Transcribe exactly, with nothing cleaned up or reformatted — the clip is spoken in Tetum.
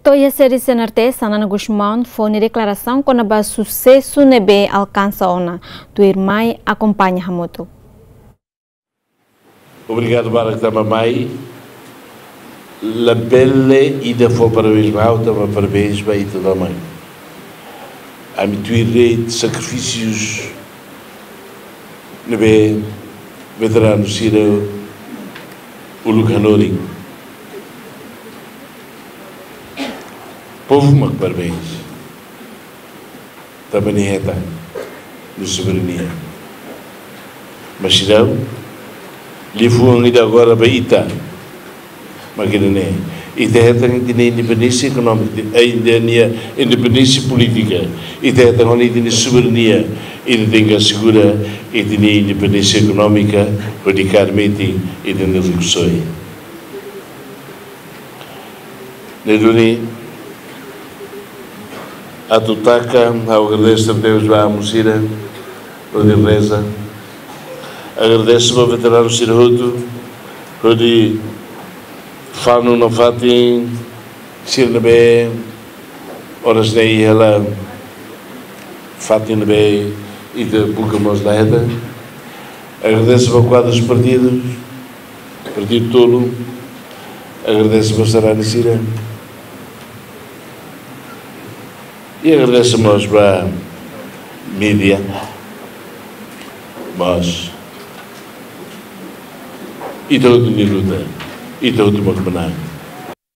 To'o iha sede C N R T, Xanana Gusmão fó nia deklarasaun kona-ba susesu ne'ebé alkansa ona. Tuirmai akompaña hamutuk. Obrigadu barak tanba mai. Labele ida fó parabéns ba ha'u, tanba parabéns ba ita tomak. Ami tuir de'it sakrifísius ne'ebé veteranu sira uluk hanorin. Povu mak parabéns. Tanba nia hetan nia soberania. Mas seidauk, liafuan ida agora ba ita, mak ida-ne'e. Ita hetan ita-nia independénsia ekonómika, eh, ita-nia independénsia polítika. Ita hetan ona ita-nia soberania. Ita tenke asegura ita-nia independénsia ekonómika, hodi kaer metin ita-nia rikusoin. Ne'e duni, atu taka, ha'u agradese tebes ba amu sira hodi reza. Agradese ba veteranu sira hotu hodi fanu nafatin sira ne'ebé oras ne'e iha hela, fatin ne'ebé ita buka mós la hetan. Agradese ba kuadrus partidus, partidu tolu. Agradese ba sarani sira. I agradese mós ba mídia. Mas ita hotu nia luta, ita hotu mak manán.